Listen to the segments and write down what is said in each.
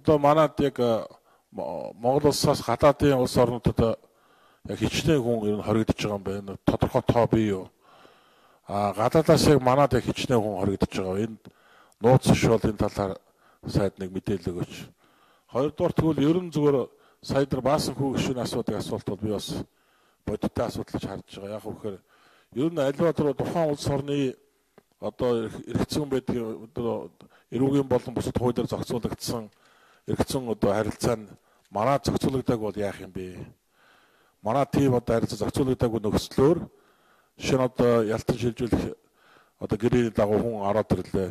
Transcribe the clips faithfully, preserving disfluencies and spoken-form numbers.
одоо манад яг Монгол улсаас гадаадын улс орнуудад яг хичнээн хүн ер нь хоригдож байгаа юм байна. Тодорхой тоо бий юу? А гадаадаас яг манад яг хичнээн хүн хоригдож байгаа. Энэ нууц ш бол энэ талаар сайд нэг мэдээлэл өгөөч. Хоёрдугаар тэгвэл ер нь зүгээр сая нар баасан хүү гişүн асуудаг асуулт бол би бас бодиттой асуудал гэж харж байгаа. Яг үхээр ер нь аливаа тэр тухайн улс орны одоо эргэцэн байдаг одоо эрүүгийн болон бусад хуулиар зохицуулагдсан эргэцэн одоо харилцаа нь манай зохицуулагдаг бол яах юм бэ? Манай тийм одоо харилцаа зохицуулагдаагүй нөхцлөөр шинэ одоо ялтан шилжүүлэх одоо гэрээний дагуу хүн ороод ирлээ.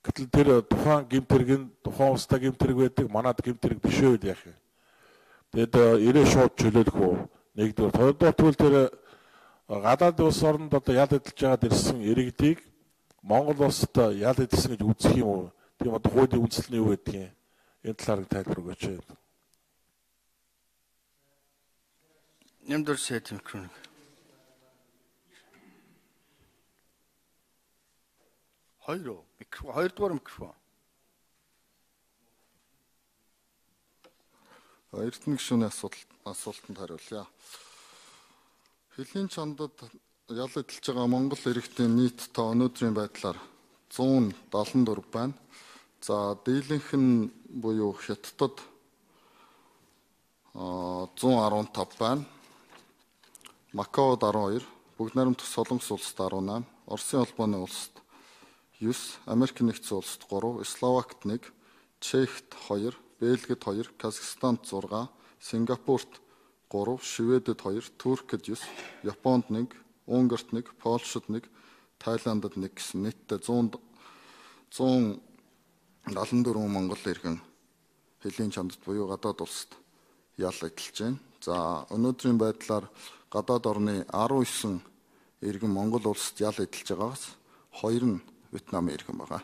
Гэтэл тэр тухайн гэмтэрэг нь тухайн улстай гэмтэрэг байдаг, манад гэмтэрэг биш үү яах юм? Тэгэд ирээ шууд чөлөөлөх үү? Нэгдүгээр, хоёрдугаар тэгвэл тэр гадаад улс оронд одоо ял эдэлж байгаад ирсэн иргэдийг Монгол улсад ял эдэлсэн гэж үзэх юм уу? Тийм одоо хуулийн үндэслэл нь юу гэдэг юм? Энэ талаар тайлбар өгөөч. Нэмдэр сайт микрофон. Хоёр микрофон, хоёрдугаар микрофон. Эрдэнэ гишүүний асуулт асуултанд хариулъя. Хөлийн чондод ял эдэлж байгаа Монгол иргэдийн нийт тоо өнөөдрийн байдлаар зуун дадлан дөрвөн байна. За дийлэнх нь буюу Хятадд зуун арван тав байна. Макаод арван хоёр, Бүгд найрамдах Солонгос улсад арван найман, Оросын холбооны улсад девять, Америк нэгдсэн улсад три, Словакт нэг, Чехт хоёр, Бельгид хоёр, Казахстанд зургаан, Сингапурт три, Шведэд хоёр, Туркид девять, Японд нэг, Унгарт нэг, Польшид нэг, Тайландд нэг гэсэн нийтдээ зуун дадлан дөрвөн Монгол иргэн хөлийн чондод буюу гадаад улсад ял эдэлж байна. За өнөөдрийн байдлаар гадаад орны арван девять иргэн Монгол улсад ял эдэлж байгаагаас хоёр нь Вьетнамын иргэн байгаа.